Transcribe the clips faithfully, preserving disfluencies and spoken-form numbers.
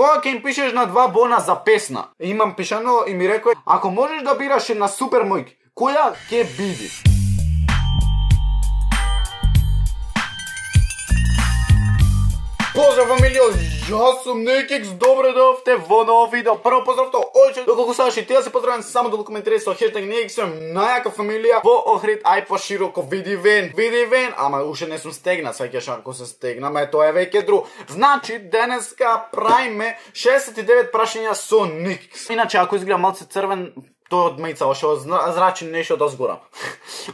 Кога ќе им пишеш на два бона за песна? Имам пишано и ми рекој, ако можеш да бираш една супер мојк, која ќе биде? Поздрав, фамилија, јас сум Некикс, добре дојавте во ново видео. Прво поздрав тоа, ојче, доколку сакаш и ти да се поздравам, само да го коментирај со хештег Некикс, сум најака фамилија во Охрид, ај пошироко, види вен, види вен, ама уште не сум стегнат, сваќаш ако се стегнаме, тоа е веќе друг. Значи, денеска правиме шеесет и девет прашања со Некикс. Иначе, ако изгледа малце црвен, тој од мајца, оше зрачи нешто од озгора.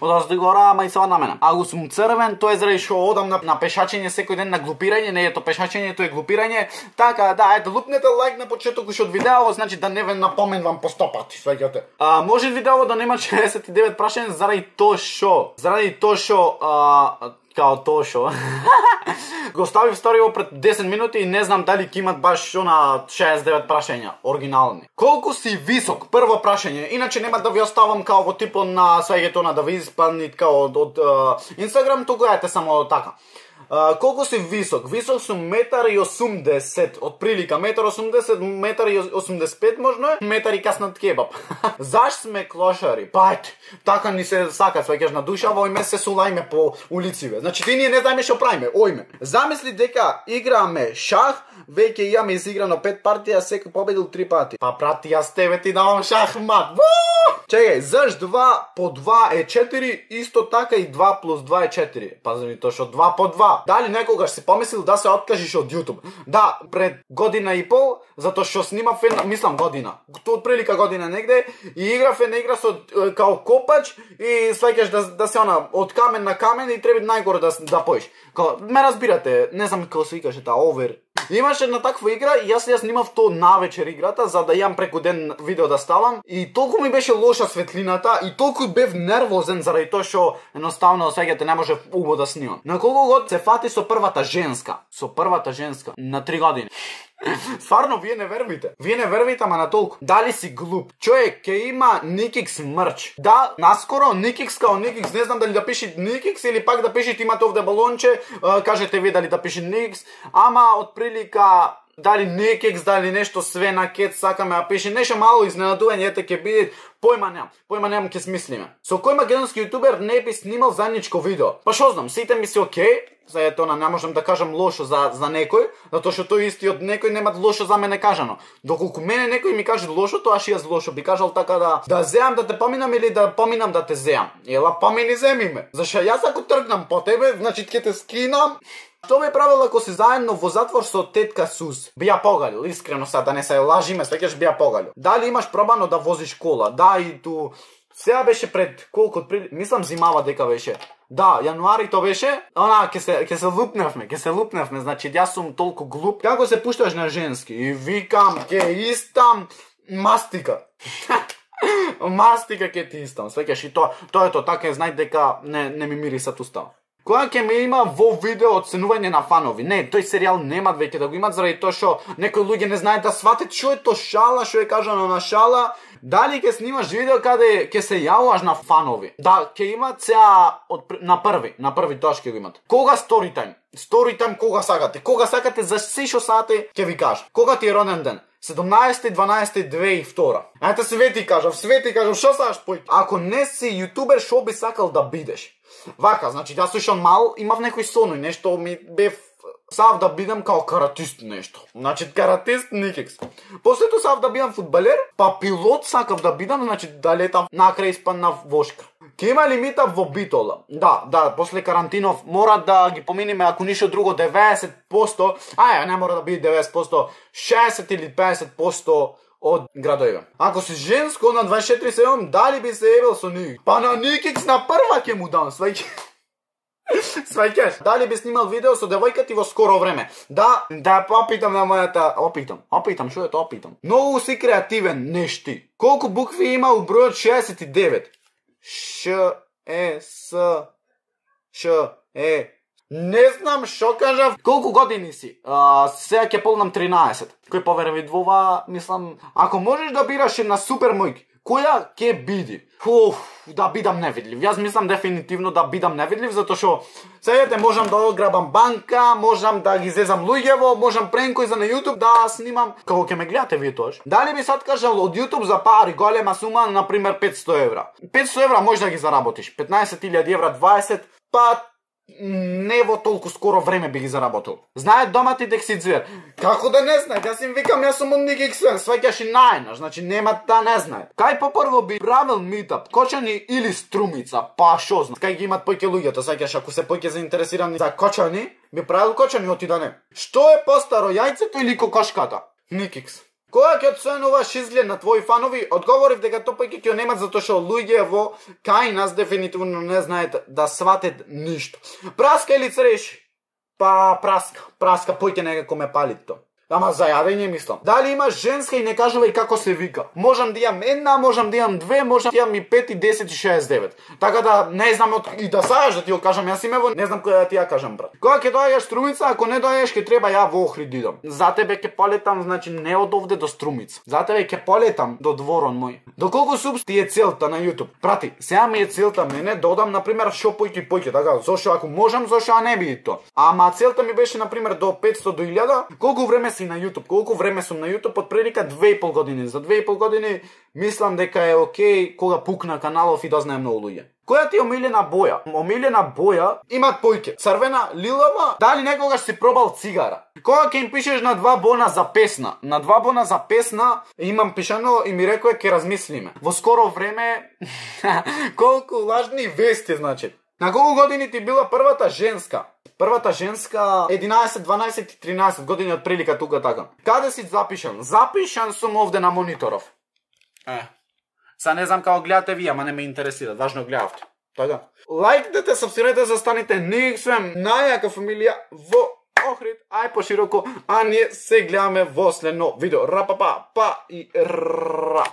Од озгора мајцава на мене. Ако сум црвен, тоа е заради што одам на, на пешачење секој ден, на глупирање, не е то пешачење, тоа е глупирање. Така, да, ето, лупнете лайк на почеток уште од видео, значи да не ве напоменувам по сто пати, сваќате. А, може видео да нема шеесет и девет прашања заради тоа што, заради тоа што, а, као тоа шо. Го ставив сториво пред десет минути и не знам дали ќе имат баш шо на шеесет и девет прашања, оригинални. Колку си висок? Прво прашање. Иначе нема да ви оставам као во типот на свеѓето на да ви испаднит као од, од Инстаграм, туку ете само така. Uh, колку си висок? Висок сум метар и осумдесет, од прилика метар и осумдесет, метар и осумдесет и пет можно е, метар и каснат кебаб. Заш сме клошари? Пајте, така ни се сака, свеќаш на душа, во име се сулајме по улициве. Значи ти ние не знаеме што правиме, ојме. Замисли дека играме шах, веќе имаме изиграно пет партија, секој победил три пати. Па прати, јас тебе ти давам шахмат. Чекај, заш два по два е четири, исто така и два плюс два е четири. Пази ми тоа што два по два. Дали некогаш си помислил да се откажиш од YouTube? Да, пред година и пол, затоа што снимав една, мислам година, тоа отприлика година негде, и играв една игра со као копач и сваќаш да, да се она од камен на камен и треба најгоре да да поиш. Као, ме разбирате, не знам како се викаше таа овер. Имаше една таква игра и јас ја снимав тоа навечер играта за да јам преку ден видео да ставам и толку ми беше лоша светлината и толку бев нервозен заради тоа што едноставно свеќате не може убаво да снимам. На колку год се фати со првата женска? Со првата женска на три години. Стварно, вие не вервите. Вие не вервите, ама на толку. Дали си глуп? Човек, ке има Некикс мрч. Да, наскоро Некикс као Некикс, не знам дали да пише Некикс или пак да пишете имате овде балонче, кажете ви дали да пише Некикс, ама од прилика дали Некикс, дали нешто све на кет сакаме да пише, нешто мало изненадување ете ќе биде, појма немам, појма немам ќе смислиме. Со кој македонски јутубер не би снимал заедничко видео? Па шо знам, сите ми се окей, за ето на не можам да кажам лошо за за некој, затоа што тој истиот некој немат лошо за мене кажано. Доколку мене некој ми каже лошо, тоа што јас лошо би кажал така да да земам да те поминам или да поминам да те земам. Ела помини земи ме. Зашто јас ако тргнам по тебе, значи ќе те скинам. Што би правил ако си заедно во затвор со тетка Сус? Би ја погалил, искрено са, да не се лажиме, свеќаш би ја погалил. Дали имаш пробано да возиш кола? Да, и ту... Сега беше пред колку отприли... Мислам зимава дека беше. Да, јануари то беше. Она, ке се, ке се лупневме, ке се лупневме, значи јас сум толку глуп. Како се пушташ на женски? И викам, ке истам мастика. Мастика ке ти истам, свеќаш и тоа, тоа е тоа, така е, знај дека не, не ми мирисат устав. Која ќе ме има во видео оценување на фанови? Не, тој серијал немат веќе да го имат заради тоа што некои луѓе не знаат да сватат што е тоа шала, што е кажано на шала. Дали ќе снимаш видео каде ќе се јавуваш на фанови? Да, ќе имат сега од, на први, на први тоа ќе го имат. Кога сторитајм? Сторитајм кога сакате? Кога сакате за се што сакате, ќе ви кажам. Кога ти е роден ден? седумнаесети дванаесети две и втора. Ајде све ти кажам, све ти кажам, што сакаш пој? Ако не си јутубер, што би сакал да бидеш? Вака, значи, јас уште мал, имав некој соној, нешто ми бев сав да бидам као каратист нешто. Значи, каратист Некикс. После тоа сав да бидам фудбалер, па пилот сакав да бидам, значи, да летам накрај испаднав вошка. Ке има лимита во битола. Да, да, после карантинов мора да ги поминиме, ако ништо друго, деветдесет проценти, ај, не мора да биде деветдесет проценти, шеесет или педесет проценти од градовиве. Ако си женско на дваесет и четири седум, дали би се ебел со Некикс? Па на Некикс на прва ќе му дам, сваќаш. Сваќаш. Дали би снимал видео со девојка ти во скоро време? Да, да опитам на мојата, опитам. Опитам, што е тоа опитам? Многу си креативен, нешти. Колку букви има у бројот шеесет и девет? Ш, Е, С, Ш, Е. Не знам што кажав. Колку години си? А, сега ќе полнам тринаесет. Кој поверви во ова, мислам, ако можеш да бираш една супер мојк, која ќе биде? Уф, да бидам невидлив. Јас мислам дефинитивно да бидам невидлив, затоа што сега можам да ограбам банка, можам да ги зезам луѓево, можам пренкој за на YouTube да снимам. Како ќе ме гледате вие тоаш? Дали би сад кажал од YouTube за пари голема сума, на пример петсто евра. петсто евра може да ги заработиш. петнаесет илјади евра, дваесет, па не во толку скоро време би ги заработил. Знаат дома ти дека си звер. Како да не знаат? Јас им викам, јас сум од Никиксен, сваќаш и најнаш, значи нема да не знаат. Кај попрво би правил митап, Кочани или Струмица, па шо знам. Кај ги имат поќе луѓето, сваќаш, ако се поќе заинтересирани за Кочани, би правил Кочани, оти да не. Што е постаро, јајцето или кокошката? Никикс. Кога ќе оценуваш изглед на твои фанови, одговорив дека тоа поќе ќе немат затоа што луѓево кај нас дефинитивно не знаат да сватат ништо. Праска или цреши? Па праска, праска поќе некако ме пали тоа. Ама за јадење мислам. Дали имаш женска и не кажувај како се вика. Можам да имам една, можам да имам две, можам да имам и пет, и десет, и шеесет и девет. Така да не знам од... и да саѓаш да ти го кажам јас имево, не знам која да ти ја кажам брат. Кога ќе доаѓаш Струмица, ако не доаѓаш ќе треба ја во Охрид идам. За тебе ќе полетам, значи не од овде до Струмица. За тебе ќе полетам до дворон мој. Доколку субс ти е целта на YouTube? Прати, сега ми е целта мене додам на пример шо појки појки, така, зошто ако можам, зошто а не биде тоа. Ама целта ми беше на пример до петсто до илјада. Колку време си на YouTube? Колку време сум на YouTube? Од прилика две и пол години. За две и пол години мислам дека е окей кога пукна каналов и да знае многу луѓе. Која ти е омилена боја? Омилена боја имат појке. Црвена, лилава, дали некогаш си пробал цигара? Кога ќе им пишеш на два бона за песна? На два бона за песна имам пишано и ми рекоа ќе размислиме. Во скоро време колку лажни вести значи. На колку години ти била првата женска? Првата женска единаесет, дванаесет и тринаесет години од прилика тука така. Каде си запишан? Запишан сум овде на мониторов. Е. Са не знам како гледате вие, ама не ме интересира, важно гледавте. Така. Лајкнете, сабскрајбете, застанете Никсвем, најака фамилија во Охрид, ај пошироко, а ние се гледаме во следно видео. Ра па па па и ра.